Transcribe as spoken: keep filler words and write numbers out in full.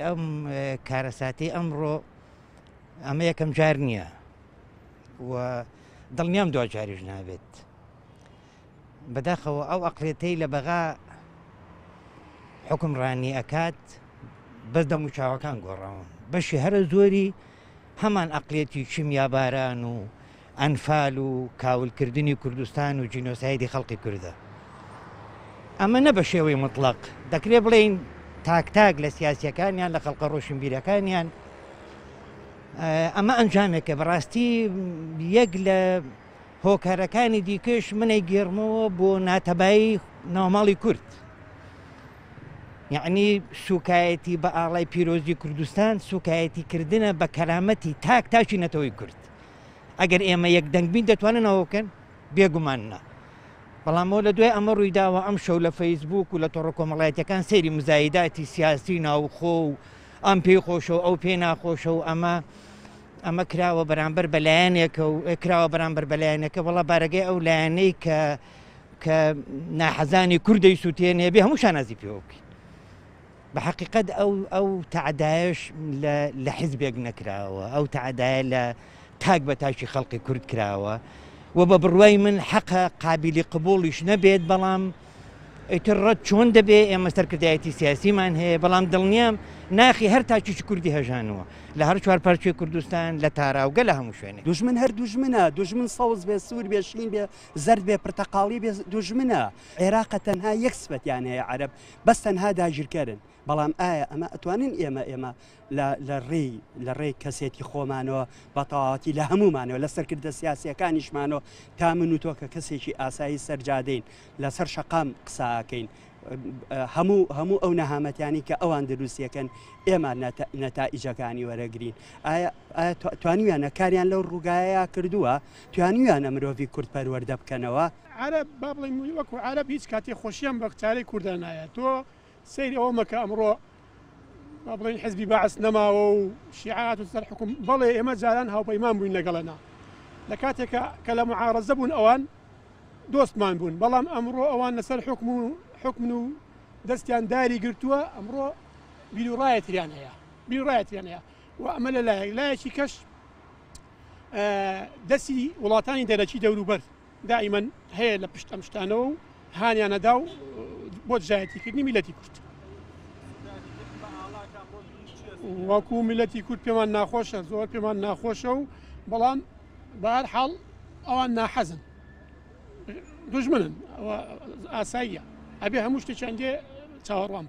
ئەم کارەساتی ئەمڕۆ ئەمە یەکەم جار نییە و دڵنیام دواجاریش نابێت. بەداخەوە ئەو ئەقلێتەی لە بەغا حکمڕانی ئەکات بەس دەموچاوەکان گۆڕاون، بەشی هەرە زۆری هەمان ئەقلێتی کیمیاباران و ئەنفال و کاولکردنی کوردستان و جینۆسایدی خەڵقی کوردە. ئەمە نە بە شێوەی مطلق دەکرێت بڵێین تاک تاک لە سیاسیەکانیان لە خەڵقە ڕۆشنبیرەکانیان ئەمە ئەنجامێکە. بەڕاستی یەک لە هۆکارەکانی دیکەش منەی گێڕمەوە بۆ ناتەبایی ناوماڵی کورد، یعنی سوکایەتی بە ئاڵای پیرۆزی کوردستان سوکایەتی کردنە بە کەرامەتی تاک تاکی نەتەوەی کورد. ئەگەر ئێمە یەک دەنگ بین دەتوانن ئەوە بکەن؟ بێگومان نا. بەڵامەوە لە دوای ئەمە ڕوویداوە ئەم شەو لە فەیسبوک و لە تۆڕە کۆمەڵایەتیەکان سەیری مزایداتی سیاسی ناوخۆ و ئەم پێی خۆشە و ئەو پێی ناخۆشە و ئەمە ئەمە کراوە بەرامبەر بەلایەنێکە و کراوە بەرامبەر بەلایەنێکە. وەڵا بارەگەی ئەو لایەنەی کە کە ناحەزانی کوردەی سووتێنێ بێ هەموو شانازی پێوە بکەین. بە حقیقت ئەو ئەو تەعدایەش لە حیزبێک نەکراوە، ئەو تەعدایە لە تاک بە تاکی خەڵقی کورد کراوە و بە بڕوای من حەقە قابلی قبوڵیش نەبێت. بەڵام ئیتر ڕەت چۆن دەبێ؟ ئێمە سەرکردایەتی سیاسیمان هەیە، بەڵام دڵنیام ناخی هەر تاکێکی کوردی هەژانووە لە هەر چوار پارچەی کوردستان، لە تاراوگە، لە هەموو شوێنێک. دوژمن هەر دوژمنە، دوژمن سەوز بێ، سوور بێ، شین بێ، زەرد بێ، پرتەقاڵی بێ، دوژمنە. عێراقە تەنها یەک سفەتیان هەیە عەرەب، بەس تەنها داگیرکەرن. بەڵام ئایا ئەمە ئەتوانین ئێمە ئێمە لە ڕێی لە ڕێی کەسێتی خۆمانەوە بە تەواوەتی لە هەمومانەوە لە سەرکردە سیاسیەکانیشمانەوە تا من و تۆ کە کەسێکی ئاسایی سەرجادەین لەسەر شەقام قساکەین، هەموو هەموو ئەو نەهامەتیانی کە ئەوان دروستیەکەن ئێمە نەتائیجەکانی وەرەگرین. ئایا ئایا توانیویانە کاریان لەو ڕووگایە کردووە؟ توانیویانە مرۆڤی کورد پەروەردە بکەنەوە؟ عەرەب با بڵێین وەکو عەرەب هیچ کاتێ خۆشیان بە چارەی کوردان نایە. تۆ سەیری ئەوە مەکە ئەمڕۆ با بڵێین حزبی بەعس نەماوە و شیعات و سەر حکوم. بەڵێ ئێمە جاران هاوپەیمان بووین لەگەڵەنا، لە کاتێکە کە لە معارەزە بوون ئەوان دۆستمان بوون، بەڵام ئەمڕۆ ئەوان لەسەر حکم و حکمن و دەستیان داری گرتووە. ئەمڕۆ بیرڕایەتریان هەیە، بیرڕایەتریان هەیە و ئەمە لە لایەک لایەکی کەش دەستی وڵاتانی دەرەکی دەوروبەر دائیمەن هەیە لە پشت ئەم شتانەوە و هانیانەدا و بۆ دژایەتیکردنی میلەتی کورد. وەکو میلەتی کورد پێمان ناخۆشە، زۆر پێمان ناخۆشە و بەڵام بە هەر حاڵ ئەوان ناحەزن، دوژمنن، ئەوە ئاساییە، ئەبێ هەموو شتێکیان لێ چاوەڕوان.